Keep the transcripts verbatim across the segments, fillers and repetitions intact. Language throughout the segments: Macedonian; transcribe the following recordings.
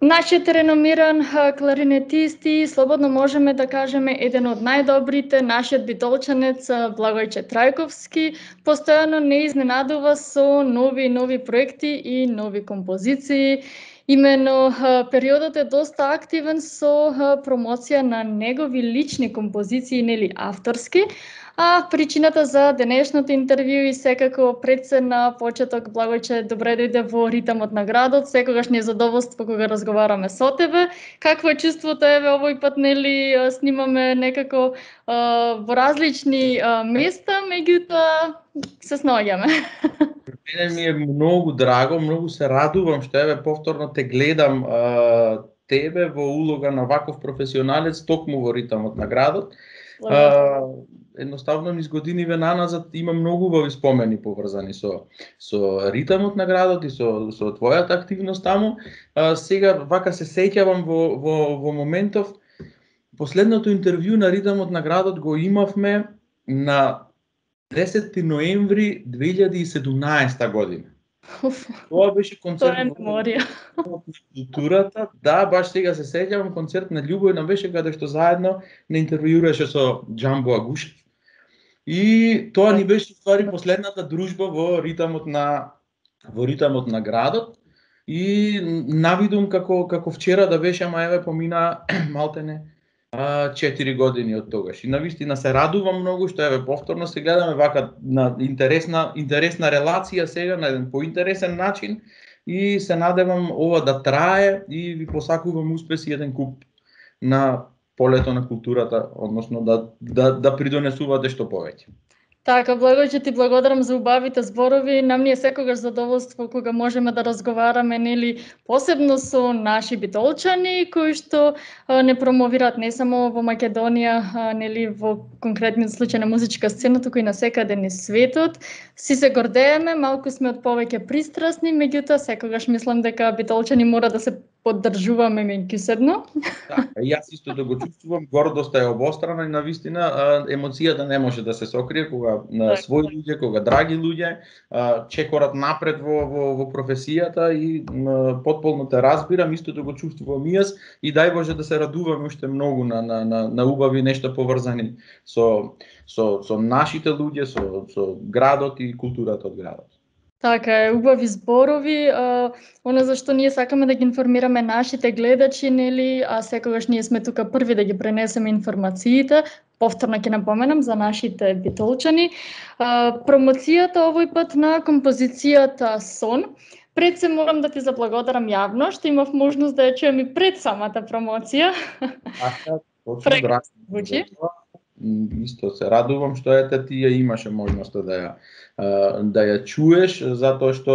Нашиот реномиран кларинетист и слободно можеме да кажеме еден од најдобрите, нашиот битолчанец Благојче Трајковски, постојано не изненадува со нови и нови проекти и нови композиции. Имено периодот е доста активен со промоција на негови лични композиции, нели авторски. А причината за денешното интервју и секако пред се на почеток, Благојче, добре дојде во ритамот на градот. Секогаш ни е задоволство кога разговараме со тебе. Какво е чувството, еве овој пат, нели, снимаме некако а, во различни а, места, меѓутоа се снаоѓаме. Мене ми е многу драго, многу се радувам што еве повторно те гледам а, тебе во улога на ваков професионалец токму во ритамот на градот. А, едноставно низ годиниве наназад има многу убави спомени поврзани со со ритамот на градот и со со твојата активност таму. А, сега вака се сеќавам во во во моментов последното интервју на ритамот на градот го имавме на десети ноември две илјади и седумнаесета година. Тоа беше концерт на меморија. Културата. Да, баш сега се сеќавам, концерт на Љубојна беше каде што заедно не интервјуираше со Џамбо Агушев. И тоа ни беше ствари последната дружба во ритамот на во ритамот на градот. И навидум како како вчера да беше, ама еве помина малтене четири години од тогаш. И навистина се радувам многу што еве повторно се гледаме вака на интересна интересна релација сега на еден поинтересен начин и се надевам ова да трае и ви посакувам успеси еден куп на полето на културата, односно да да да придонесувате што повеќе. Така, Благојче, ти благодарам за убавите зборови. Нам ни е секогаш задоволство кога можеме да разговараме, нели, посебно со наши битолчани кои што а, не промовираат не само во Македонија, а, нели, во конкретниот случај на музичка сцена, туку и на секаде низ светот. Си се гордееме, малку сме од повеќе пристрасни, меѓутоа секогаш мислам дека битолчани мора да се поддржуваме меѓусебно. Така, јас исто да го чувствувам, гордоста е обострана и навистина емоцијата не може да се сокрие кога на своји луѓе, кога драги луѓе чекорат напред во во во професијата и потполно те разбирам, исто да го чувствувам и јас и дај Боже да се радуваме уште многу на на на, на убави нешта поврзани со со со нашите луѓе, со со градот и културата од градот. Така е, убави зборови, а, оно за што ние сакаме да ги информираме нашите гледачи, нели, а секогаш ние сме тука први да ги пренесеме информациите. Повторно ќе напоменам за нашите битолчани. А, промоцијата овој пат на композицијата Сон. Пред се морам да ти заблагодарам јавно, што имав можност да ја чуем и пред самата промоција. Аха, точно драго. Исто се радувам што ете ти ја имаше можноста да ја да ја чуеш, затоа што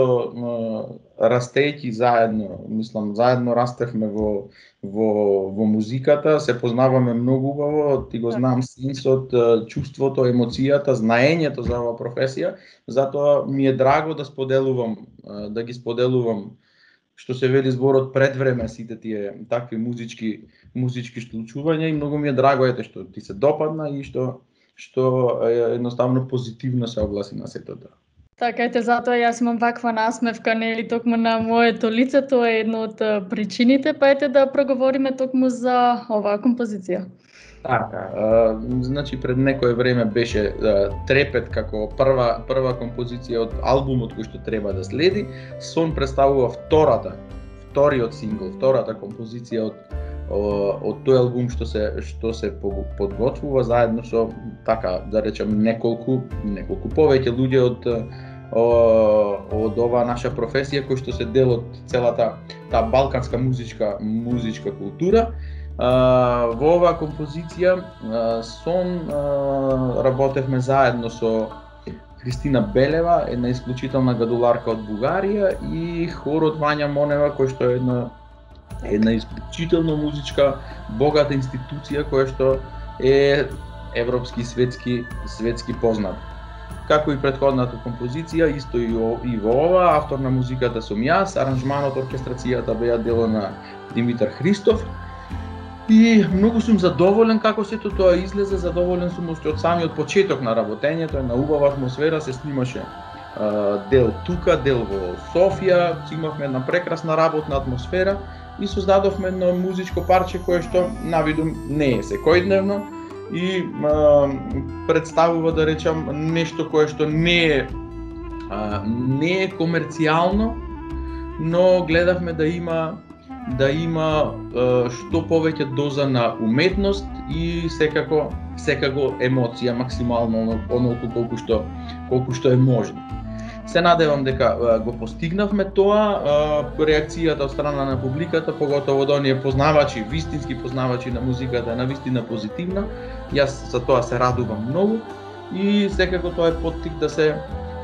растејќи заедно, мислам заедно растевме во во во музиката, се познаваме многу убаво, ти го знам сенсот, чувството, емоцијата, знаењето за оваа професија, затоа ми е драго да споделувам, да ги споделувам што се вели зборот пред време сите тие такви музички музички случувања и многу ми е драго ете што ти се допадна и што што едноставно позитивно се огласи на сето тоа. Така ете, затоа јас имам ваква насмевка, нели, токму на моето лице, тоа е една од причините, па ете да проговориме токму за оваа композиција. Така, а, значи пред некое време беше а, Трепет како прва прва композиција од албумот кој што треба да следи. Сон представува втората, вториот сингл, втората композиција од од тој албум што се што се подготвува заедно со така да речем неколку неколку повеќе луѓе од од оваа наша професија кои што се дел од целата таа балканска музичка музичка култура. Uh, во оваа композиција uh, Сон uh, работевме заедно со Христина Белева, една исклучителна гадуларка од Бугарија, и хорот Вања Монева, кој што е една една исклучително музичка богата институција која што е европски и светски светски познат. Како и претходната композиција, исто и, о, и во ова, автор на музиката сум јас, аранжманот, оркестрацијата беа дело на Димитар Христов. И многу сум задоволен како сето тоа излезе, задоволен сум уште од самиот почеток на работењето, една убава атмосфера се снимаше дел тука, дел во Софија, имавме една прекрасна работна атмосфера и создадовме едно музичко парче кое што навидум не е секојдневно и а, представува, да речам, нешто кое што не е а, не е комерцијално, но гледавме да има да има а, што повеќе доза на уметност и секако секако емоција максимално онолку колку што колку што е можно. Се надевам дека а, го постигнавме тоа, а, реакцијата од страна на публиката, поготово од оние познавачи, вистински познавачи на музиката е навистина позитивна. Јас за тоа се радувам многу и секако тоа е поттик да се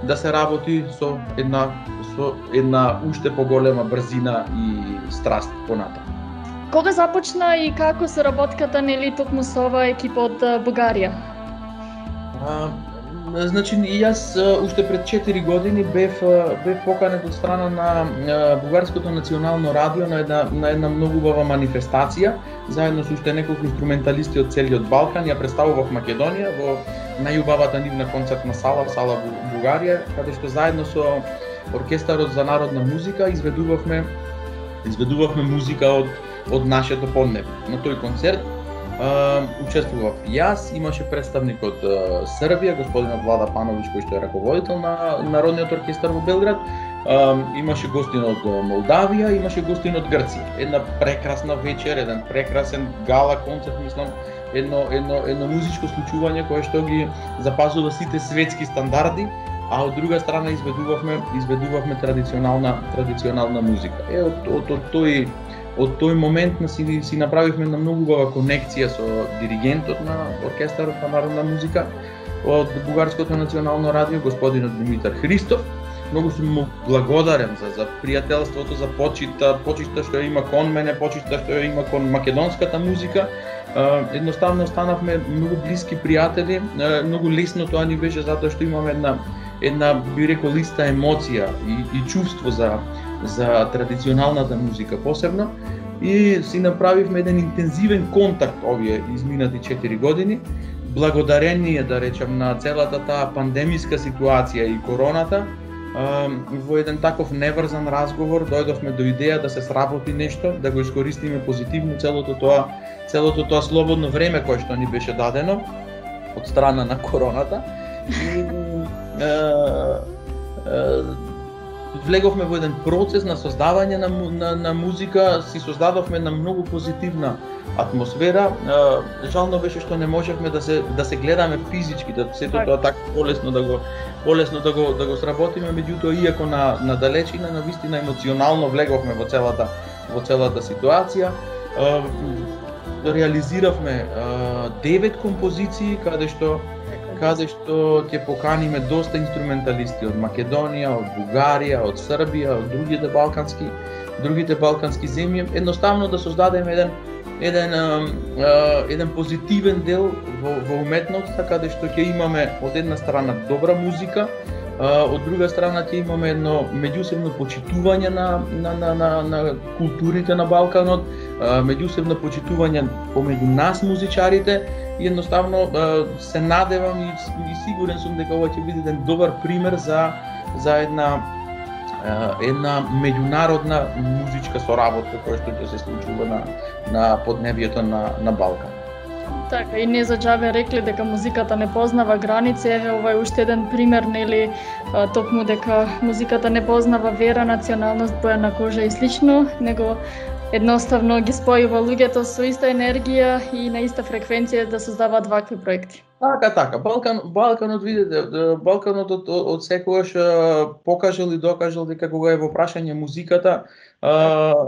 да се работи со една со една уште поголема брзина и страст понатаму. Кога започна и како се работката, нели, токму со ова екипа од Бугарија? А, значи, јас уште пред четири години бев бев поканет од страна на Бугарското национално радио на една на една многу убава манифестација, заедно со уште неколку инструменталисти од целиот Балкан. Ја представував Македонија во најубавата нивна концертна сала, сала Бугарија, каде што заедно со Оркестарот за народна музика изведувавме изведувавме музика од од нашето поднебе. На тој концерт а, учествував јас, имаше представник од а, Србија, господинот Влада Пановиќ, кој што е раководител на Народниот оркестар во Белград, а, имаше гостин од Молдавија, имаше гостин од Грција. Една прекрасна вечер, еден прекрасен гала концерт, мислам, едно едно едно музичко случување кое што ги запазува сите светски стандарди, а од друга страна изведувавме изведувавме традиционална традиционална музика. Е од од, од тој од тој момент на си, си направивме една многу убава конекција со диригентот на Оркестарот на народна музика од Бугарското национално радио, господинот Димитар Христов. Многу сум му благодарен за за пријателството, за почита, почита што има кон мене, почита што има кон македонската музика. Едноставно станавме многу блиски пријатели, многу лесно тоа ни беше затоа што имаме една една би рекол иста емоција и, и чувство за за традиционалната музика посебно, и си направивме еден интензивен контакт овие изминати четири години, благодарение, да речам, на целата таа пандемиска ситуација и короната. Во еден таков неврзан разговор дојдовме до идеја да се сработи нешто, да го искористиме позитивно целото тоа целото тоа слободно време кое што ни беше дадено од страна на короната. И е, е, влеговме во еден процес на создавање на, на, на музика, си создадовме една многу позитивна атмосфера. Е, жално беше што не можевме да се да се гледаме физички, да сето тоа така полесно да го полесно да го да го сработиме, меѓутоа иако на на далечина, на вистина емоционално влеговме во целата во целата ситуација. Е, реализиравме девет композиции каде што каде што ќе поканиме доста инструменталисти од Македонија, од Бугарија, од Србија, од другите балкански другите балкански земји, едноставно да создадеме еден еден еден позитивен дел во, во уметноста, каде што ќе имаме од една страна добра музика, од друга страна ќе имаме едно меѓусебно почитување на на на на, на културите на Балканот, меѓусебно почитување помеѓу нас музичарите. И едноставно се надевам и, и сигурен сум дека ова ќе биде еден добар пример за за една една меѓународна музичка соработка која што ќе се случува на на поднебјето на на Балкан. Така, и не за џабе рекле дека музиката не познава граници. Еве ова е уште еден пример, нели, токму дека музиката не познава вера, националност, боја на кожа и слично, него едноставно ги спојува луѓето со иста енергија и на иста фреквенција да создаваат вакви проекти. Така, така. Балкан, Балканот, видите, Балканот од, од секогаш покажал и докажал дека кога е во прашање музиката,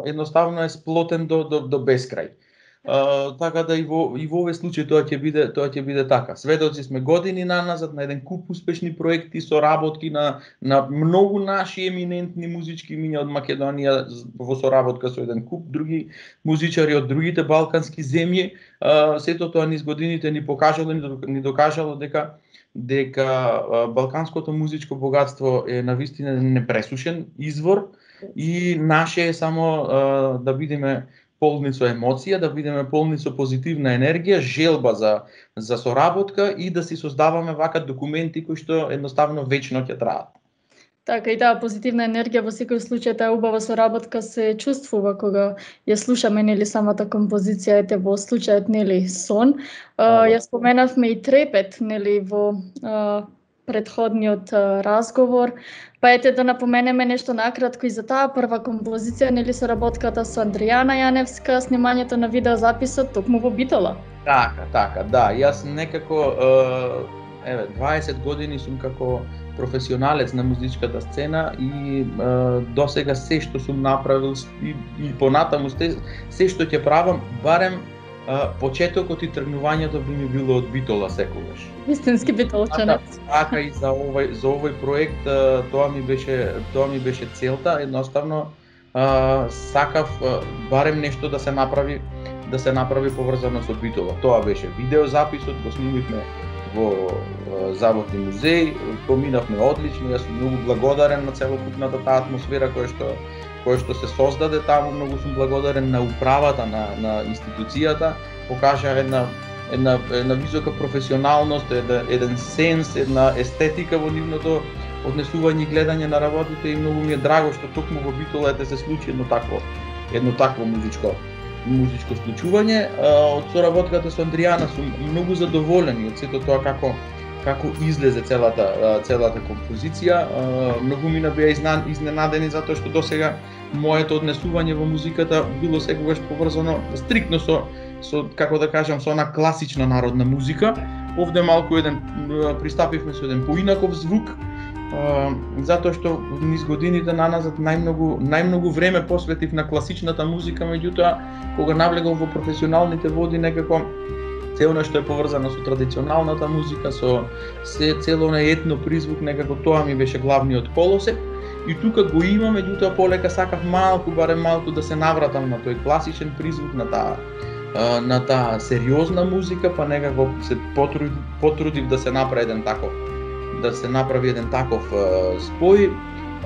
едноставно е сплотен до до, до бескрај. Uh, така да и во и во овој случај тоа ќе биде тоа ќе биде така. Сведоци сме години наназад на еден куп успешни проекти, соработки на на многу наши еминентни музички имиња од Македонија во соработка со еден куп други музичари од другите балкански земји. Uh, сето тоа низ годините ни покажало ни докажало дека дека uh, балканското музичко богатство е навистина непресушен извор и наше е само uh, да бидеме полни со емоција, да бидеме полни со позитивна енергија, желба за за соработка и да си создаваме вака документи кои што едноставно вечно ќе траат. Така и таа позитивна енергија во секој случај, таа убава соработка се чувствува кога ја слушаме, нели, самата композиција, ете во случајот, нели, сон. А, ја споменавме и трепет, нели, во а, предходниот а, разговор. Па ете да напоменеме нешто накратко и за таа прва композиција, нели, соработката со Андријана Јаневска, снимањето на видеозаписот токму во Битола. Така, така, да, јас некако еве дваесет години сум како професионалец на музичката сцена и досега се што сум направил и, и понатаму се, се што ќе правам, барем а, почетокот и тргнувањето би ми било од Битола секогаш. Вистински битолчанец. Така, така и за овој за овој проект а, тоа ми беше тоа ми беше целта, едноставно а, сакав а, барем нешто да се направи да се направи поврзано со Битола. Тоа беше видеозаписот, го снимивме во Заводни музеј, поминавме одлично, јас сум многу благодарен на целокупната таа атмосфера која што која што се создаде таму, многу сум благодарен на управата на на институцијата, покажа една една една висока професионалност, еден, еден сенс, една естетика во нивното однесување и гледање на работите и многу ми е драго што токму во Битола ете се случи едно такво едно такво музичко музичко случување. Од соработката со Андријана сум многу задоволен од сето тоа како како излезе целата целата композиција. Многу ми беа изненадени затоа што досега моето однесување во музиката било секогаш поврзано стриктно со со како да кажам со она класична народна музика. Овде малку еден пристапивме со еден поинаков звук. Uh, затоа што низ годините наназад најмногу најмногу време посветив на класичната музика, меѓутоа кога навлегов во професионалните води некако цело нешто е поврзано со традиционалната музика, со се цело на етно призвук, некако тоа ми беше главниот колосек. И тука го има, меѓутоа полека сакав малку, барем малку да се навратам на тој класичен призвук, на таа на таа сериозна музика, па некако се потрудив, потрудив да се направи еден таков да се направи еден таков uh, спој.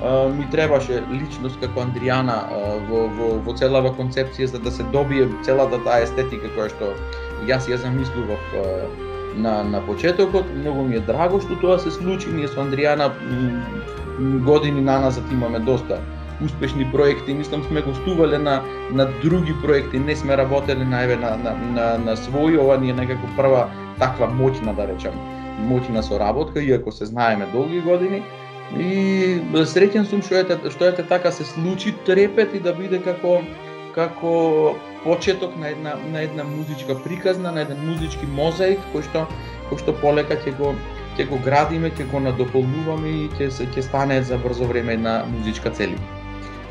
Uh, ми требаше личност како Андријана uh, во, во, во целава концепција за да се добие целата таа естетика која што јас ја замислував uh, на, на почетокот. Многу ми е драго што тоа се случи. Ние со Андријана години наназад имаме доста успешни проекти. Мислам сме гостувале на, на други проекти, не сме работеле на, еве, на, на, на, на свој, ова ни е некако прва таква моќна, да речем, моќна соработка, иако се знаеме долги години. И среќен сум што ете, што ете така се случи трепет и да биде како како почеток на една на една музичка приказна, на еден музички мозаик кој што кој што полека ќе го ќе го градиме, ќе го надополнуваме и ќе се ќе стане за брзо време една музичка целина.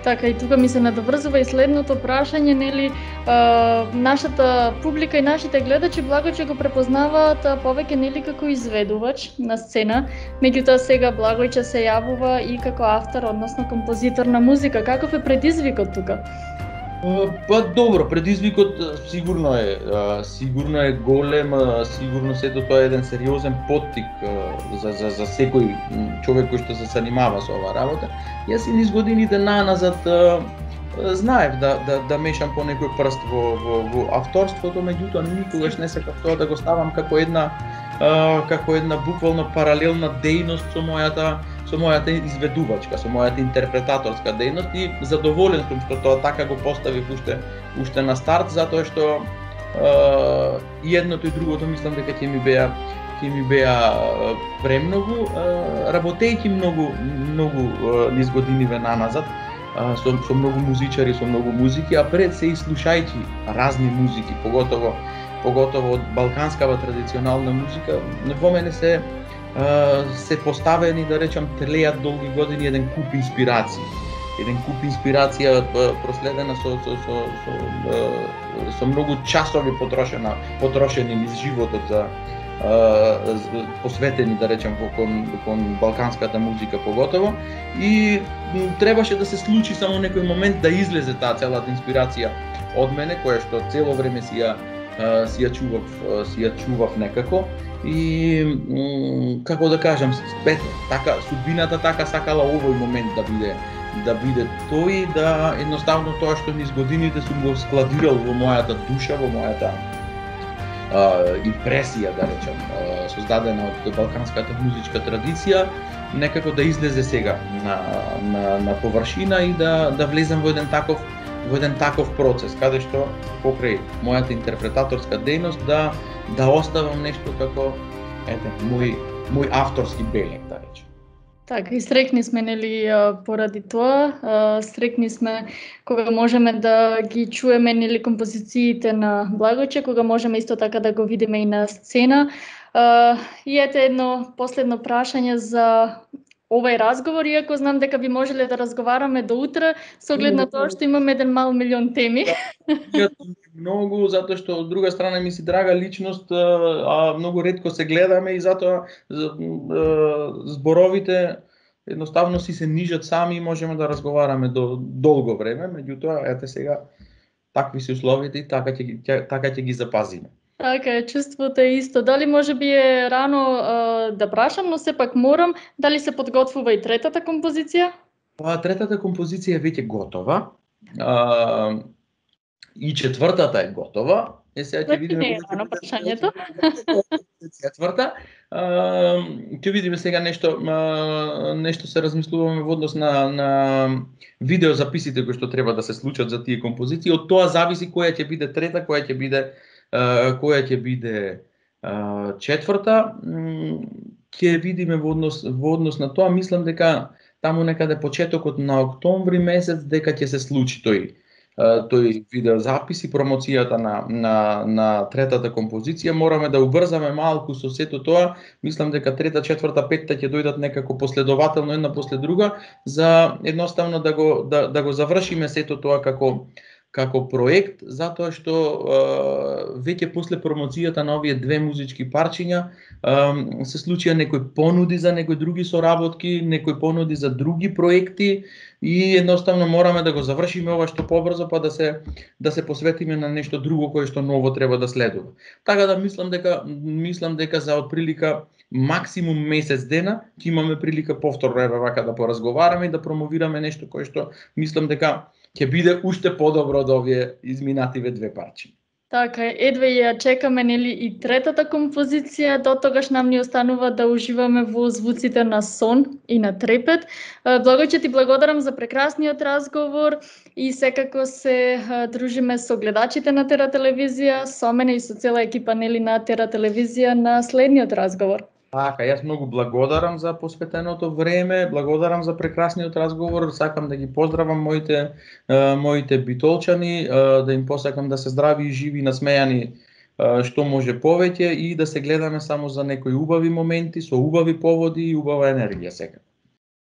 Така, и тука ми се надоврзува и следното прашање, нели, а, нашата публика и нашите гледачи Благојче го препознаваат повеќе, нели, како изведувач на сцена, меѓутоа сега Благојче се јавува и како автор, односно композитор на музика. Каков е предизвикот тука? Па добро, предизвикот сигурно е, сигурно е голем, сигурно сето тоа е еден сериозен поттик за за за секој човек кој што се занимава со оваа работа. Јас и низ годините наназад знаев да да да мешам по некој прст во во во авторството, меѓутоа никогаш не сакав тоа да го ставам како една како една буквално паралелна дејност со мојата со мојата изведувачка, со мојата интерпретаторска дејност и задоволен сум што тоа така го поставив уште уште на старт, затоа што е, и едното и другото мислам дека ќе ми беа ќе ми беа премногу, работејќи многу многу низ годиниве наназад со со многу музичари, со многу музики, а пред се и слушајќи разни музики, поготово поготово од балканскава традиционална музика, во мене се се поставени, да речам, телеат долги години еден куп инспирации. Еден куп инспирација проследена со со со со, со многу часови потрошена потрошени низ животот за посветени, да речем, кон кон балканската музика поготово, и требаше да се случи само некој момент да излезе таа целата инспирација од мене, која што цело време си ја си ја чував, си ја чував некако. И како да кажам, спет, така судбината така сакала овој момент да биде да биде тој, да едноставно тоа што низ годините сум го складирал во мојата душа, во мојата а, импресија, да речем, а, создадена од балканската музичка традиција, некако да излезе сега на на на површина и да да влезем во еден таков во еден таков процес, каде што покрај мојата интерпретаторска дејност да да оставам нешто како ете мој мој авторски белег, да речем. Така, и срекни сме, нели, поради тоа. Срекни сме кога можеме да ги чуеме, нели, композициите на Благојче, кога можеме исто така да го видиме и на сцена. И ете едно последно прашање за овај разговор, иако знам дека би можеле да разговараме до утре, со оглед на тоа што имаме еден мал милион теми. Многу, затоа што од друга страна ми си драга личност, а многу ретко се гледаме и затоа зборовите едноставно си се нижат сами и можеме да разговараме до долго време, меѓутоа ете сега такви се условите и така ќе така ќе ги запазиме. Така е, чувството е исто. Дали може би е рано а, да прашам, но сепак морам, дали се подготвува и третата композиција? Па третата композиција е веќе готова. А, и четвртата е готова. Е сега ќе видиме не е рано прашањето. Четврта. Ќе видиме сега нешто а, нешто се размислуваме во однос на на видеозаписите кои што треба да се случат за тие композиции. Од тоа зависи која ќе биде трета, која ќе биде која ќе биде четврта, ќе видиме во однос во однос на тоа. Мислам дека таму некаде почетокот на октомври месец дека ќе се случи тој тој видеозапис и промоцијата на на на третата композиција. Мораме да убрзаме малку со сето тоа. Мислам дека трета, четврта, петта ќе дојдат некако последователно една после друга за едноставно да го да, да го завршиме сето тоа како како проект, затоа што е, веќе после промоцијата на овие две музички парчиња е, се случија некои понуди за некои други соработки, некои понуди за други проекти и едноставно мораме да го завршиме ова што побрзо па да се да се посветиме на нешто друго кое што ново треба да следува. Така да мислам дека мислам дека за отприлика максимум месец дена ќе имаме прилика повторно еве вака да поразговараме и да промовираме нешто кое што мислам дека ќе биде уште подобро од овие изминативе две парчи. Така, едве ја чекаме, нели, и третата композиција, до тогаш нам ни останува да уживаме во звуците на сон и на трепет. Благојче, ти благодарам за прекрасниот разговор и секако се дружиме со гледачите на Тера телевизија, со мене и со цела екипа, нели, на Тера телевизија на следниот разговор. Така, јас многу благодарам за посветеното време, благодарам за прекрасниот разговор, сакам да ги поздравам моите моите битолчани, да им посакам да се здрави и живи, насмејани што може повеќе и да се гледаме само за некои убави моменти, со убави поводи и убава енергија сега.